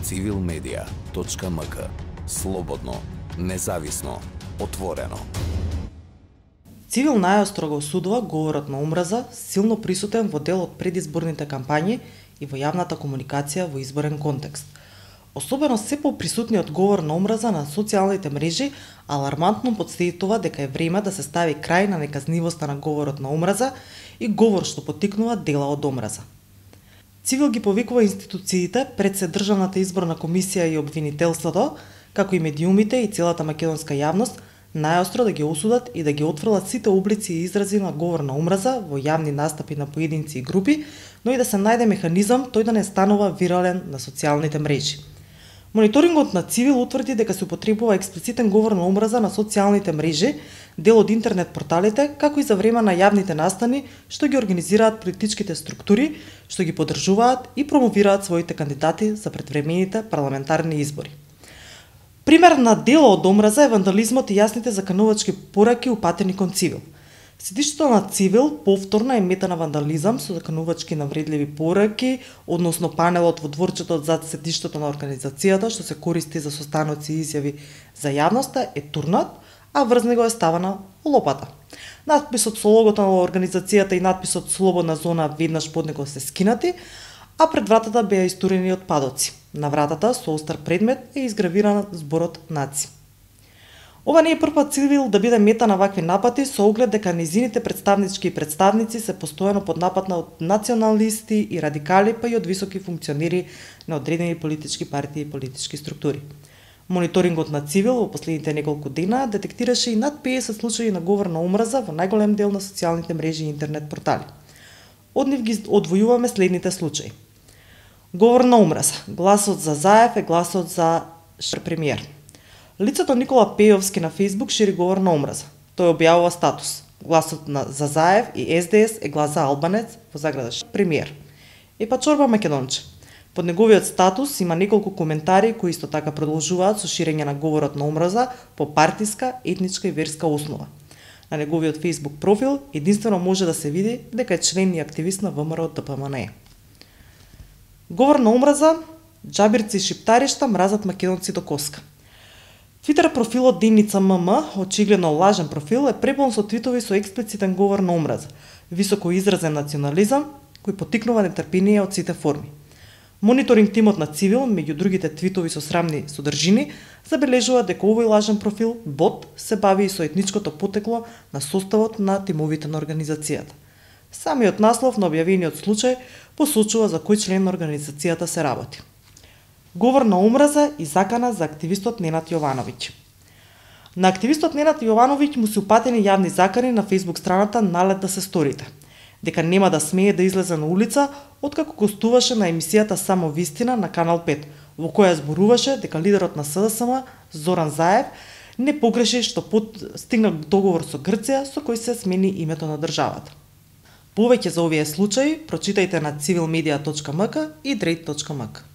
civilmedia.mk. Слободно, независно, отворено. Цивил најостро го осудува говорот на омраза, силно присутен во дел од предизборните кампањи и во јавната комуникација во изборен контекст. Особено се поприсутниот говор на омраза на социјалните мрежи алармантно потврдува дека е време да се стави крај на неказнивоста на говорот на омраза и говор што поттикнува дела од омраза. Цивил ги повикува институциите пред се Државната изборна комисија и обвинителството, како и медиумите и целата македонска јавност, најостро да ги осудат и да ги отфрлат сите облици и изрази на говор на омраза во јавни настапи на поединци и групи, но и да се најде механизам тој да не станува вирален на социјалните мрежи. Мониторингот на Цивил утврди дека се употребува експлицитен говор на омраза на социјалните мрежи, дел од интернет порталите, како и за време на јавните настани што ги организираат политичките структури, што ги поддржуваат и промовираат своите кандидати за предвремените парламентарни избори. Пример на дело од омраза е вандализмот и јасните заканувачки пораки упатени кон Цивил. Седиштето на Цивил повторно е мета на вандализам со заканувачки навредливи пораки, односно панелот во дворчето зад седиштето на организацијата што се користи за состаноци и изјави за јавноста е турнат, а врз него е ставана лопата. Надписот со логото на организацијата и надписот "Слободна зона" веднаш под него се скинати, а пред вратата беа истурени отпадоци. На вратата со остар предмет е изгравиран зборот "Наци". Ова не е првпат Цивил да биде мета на вакви напати со оглед дека нејзините представнички и представници се постојано под напад од националисти и радикали, па и од високи функционери на одредени политички партии и политички структури. Мониторингот на Цивил во последните неколку дена детектираше и над 50 случаи на говор на омраза во најголем дел на социјалните мрежи и интернет портали. Од нив ги одвојуваме следните случаи. Говор на омраза. Гласот за Заев е гласот за премиер. Лицето Никола Пејовски на Facebook шири говор на омраза. Тој објавува статус. Гласот за Заев и СДС е глас за Албанец во заграда премиер. Па Чорба Македонче. Под неговиот статус има неколку коментари кои исто така продолжуваат со ширење на говорот на омраза по партиска, етничка и верска основа. На неговиот Facebook профил единствено може да се види дека е член и активист на ВМРО ДПМНЕ. Говор на омраза, џабирци и шиптаришта мразат македонци до коска. Твитер профилот Деница ММ, очигледно лажен профил, е препон со твитови со експлицитен говор на омраза, високо изразен национализам, кој поттикнува нетрпение од сите форми. Мониторинг тимот на Цивил, меѓу другите твитови со срамни содржини, забележува дека овој лажен профил, бот, се бави и со етничкото потекло на составот на тимовите на организацијата. Самиот наслов на објавениот случај посочува за кој член на организацијата се работи. Говор на омраза и закана за активистот Ненад Јовановиќ. На активистот Ненад Јовановиќ му се упатени јавни закани на Facebook страната "Налет да се сторите", дека нема да смее да излезе на улица откако гостуваше на емисијата "Само вистина" на Канал 5, во која зборуваше дека лидерот на СДСМ Зоран Заев не погреши што стигна договор со Грција со кој се смени името на државата. Повеќе за овие случаи прочитајте на civilmedia.mk и drate.mk.